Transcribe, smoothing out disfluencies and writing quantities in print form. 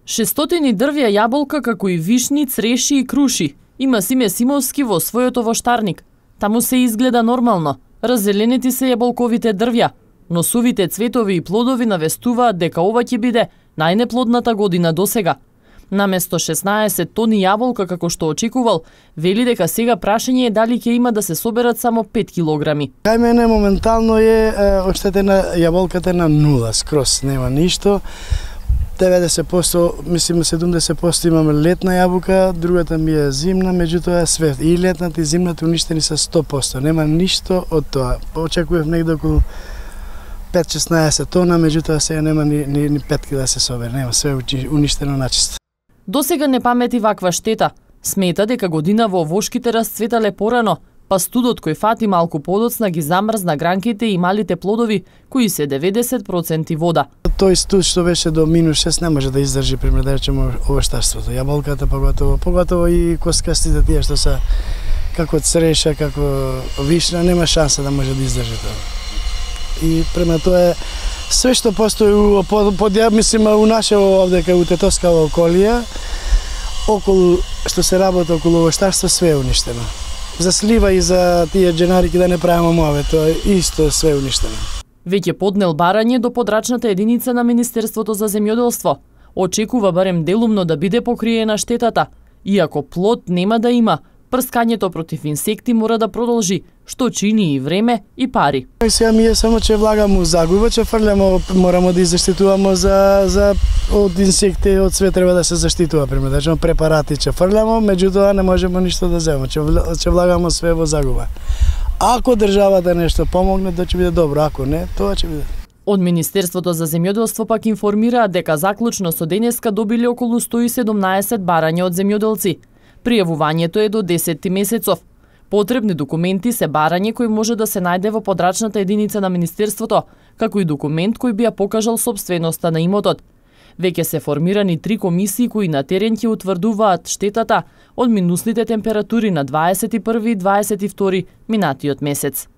600 дрвја јаболка како и вишни, цреши и круши. Има Симе Симовски во својот воштарник. Таму се изгледа нормално. Раззеленети се јаболковите дрвја, но сувите цветови и плодови навестуваат дека ова ќе биде најнеплодната година досега. Наместо 16 тони јаболка како што очекувал, вели дека сега прашање е дали ќе има да се соберат само 5 килограми. Кај мене моментално е оштетена јаболката на нула, скрос нема ништо. 90%, мислим 70% имаме летна јаболка, другата ми е зимна, меѓутоа све и летната и зимната уништени се 100%. Нема ништо од тоа. Очекував негде околу 5-16 тона, меѓутоа сега нема ни петки да се собере, нема, све уништено начисто. Досега не памети ваква штета. Смета дека година во овошките расцветале порано, па студот кој фати малку подоцна ги замрзна гранките и малите плодови, кои се 90% вода. Тој студ што беше до -6 не може да издржи, пример да речеме, овоштарството. Јаболката поготово и коскастите тие што се како цреша, како вишна, нема шанса да може да издржи тоа. И према тоа е све што постои мислим у наше овде кај у Тетовскава околија, околу што се работи околу овоштарство, све е уништено. За слива и за тие дженарики да не правиме мове, тоа исто све е уништено. Веќе поднел барање до подрачната единица на Министерството за земјоделство. Очекува барем делумно да биде покриена штетата. Иако плод нема да има, прскањето против инсекти мора да продолжи, што чини и време и пари. Сега ми е само че влагаме у загуба, че фрляме, морамо да изаштитуваме од инсекти, од све треба да се заштитува, пример, да препарати че фрляме, меѓутоа не можеме ништо да земеме, че влагаме све во загуба. Ако државата нешто помогне, тоа ќе биде добро, ако не, тоа ќе биде. Од Министерството за земјоделство пак информираат дека заклучно со денеска добиле околу 117 барања од земјоделци. Пријавувањето е до 10 месецов. Потребни документи се барање кој може да се најде во подрачната единица на Министерството, како и документ кој би ја покажал сопственоста на имотот. Веќе се формирани 3 комисии кои на терен ќе утврдуваат штетата од минусните температури на 21 и 22 минатиот месец.